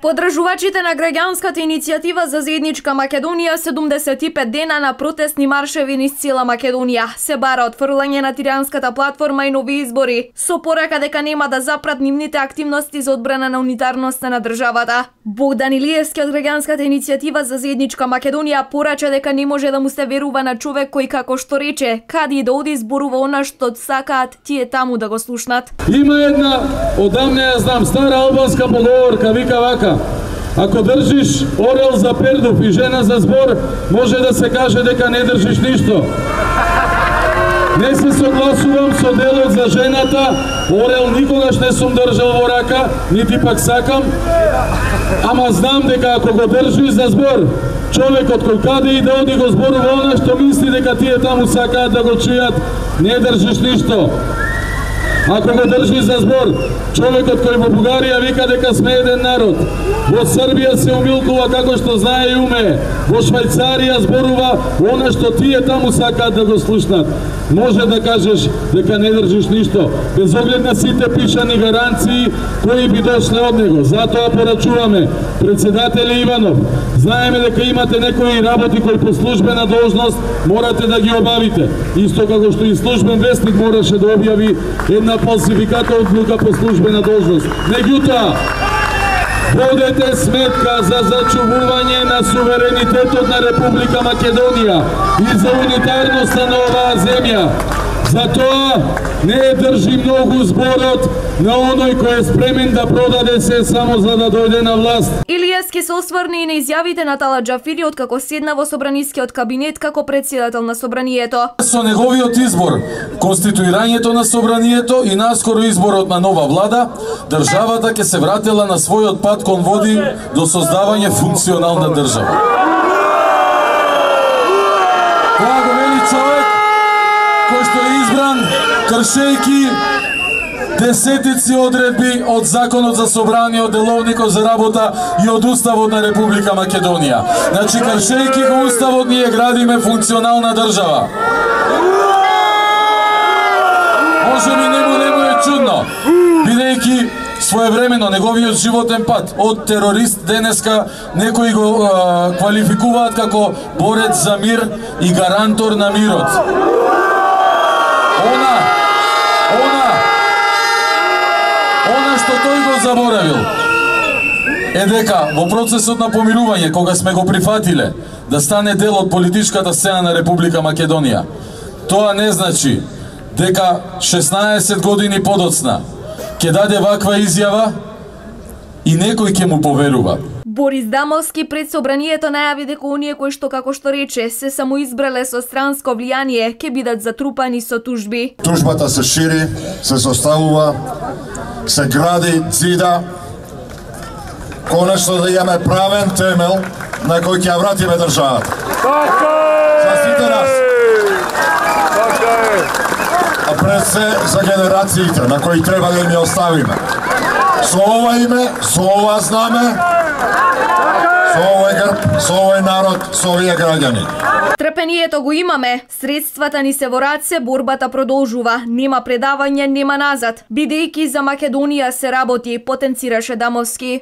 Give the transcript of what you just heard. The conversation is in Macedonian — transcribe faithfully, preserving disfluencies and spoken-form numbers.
Подржувачите на граѓанската иницијатива за заедничка Македонија седумдесет и пет дена на протестни маршеви низ цела Македонија се бара отфрлање на тиранската платформа и нови избори, со порака дека нема да запрат нивните активности за одбрана на унитарноста на државата. Богдан Илиевски од граѓанската иницијатива за заедничка Македонија порача дека не може да му се верува на човек кој, како што рече, каде и да оди зборува она што сакаат тие таму да го слушнат. Има една, одамне ја знам, стара албанска поговорка, вика вака: ако држиш орел за пердув и жена за збор, може да се каже дека не држиш ништо. Не се согласувам со делот за жената, орел никогаш не сум држал во рака, нити пак сакам, ама знам дека ако го држиш за збор, човекот кој каде и да оди го зборува она што мисли дека тие таму сакаат да го чујат, не држиш ништо. Ако го држи за збор, човекот кој во Бугарија вика дека сме еден народ, во Србија се умилкува како што знае и умее, во Швајцарија зборува она што тие таму сакаат да го слушнат, може да кажеш дека не држиш ништо, без оглед на сите пишани гаранции кои би дошле од него. Затоа порачуваме, председателе Иванов, знаеме дека имате некои работи кои по службена должност морате да ги обавите, исто како што и службен вестник мораше да објави една фалсификата одлука по службена должност. Меѓутоа, водете сметка за зачувување на суверенитетот на Република Македонија и за унитарноста на оваа земја. Затоа не држи многу зборот на оној кој е спремен да продаде се само за да дојде на власт. Илиевски се осврни и на изјавите на Тала Џафири од како седна во собранискиот кабинет како председател на собранието. Со неговиот избор, конституирањето на собранието и наскоро изборот на нова влада, државата ќе се вратила на својот пат кон води до создавање функционална држава. Тоа го вели човек кој што е избран кршејки десетици одредби од Законот за собрание, од Деловникот за работа и од Уставот на Република Македонија. Значи, кршејки го Уставот, ние градиме функционална држава. Може би нему нему е чудно, бидејќи своевремено неговиот животен пат од терорист денеска некои го а, квалификуваат како борец за мир и гарантор на мирот. Она, она, она што тој го заборавил е дека во процесот на помирување, кога сме го прифатиле да стане дел од политичката сцена на Република Македонија, тоа не значи дека шеснаесет години подоцна ќе даде ваква изјава и некој ќе му поверува. Борис Дамовски пред собранието најави дека оние кои што, како што рече, се самоизбрале со странско влијание ќе бидат затрупани со тужби. Тужбата се шири, се составува, се гради, цида, конечно да имаме правен темел на кој ќе ја вратиме државата. За сите нас. А пред се за генерациите на кои треба да ми оставиме. Со ова име, со ова знаме, со овој грб, со овој народ, со овие граѓани. Трпението го имаме, средствата ни се во раце, борбата продолжува, нема предавање, нема назад, бидејќи за Македонија се работи, потенцираше Дамовски.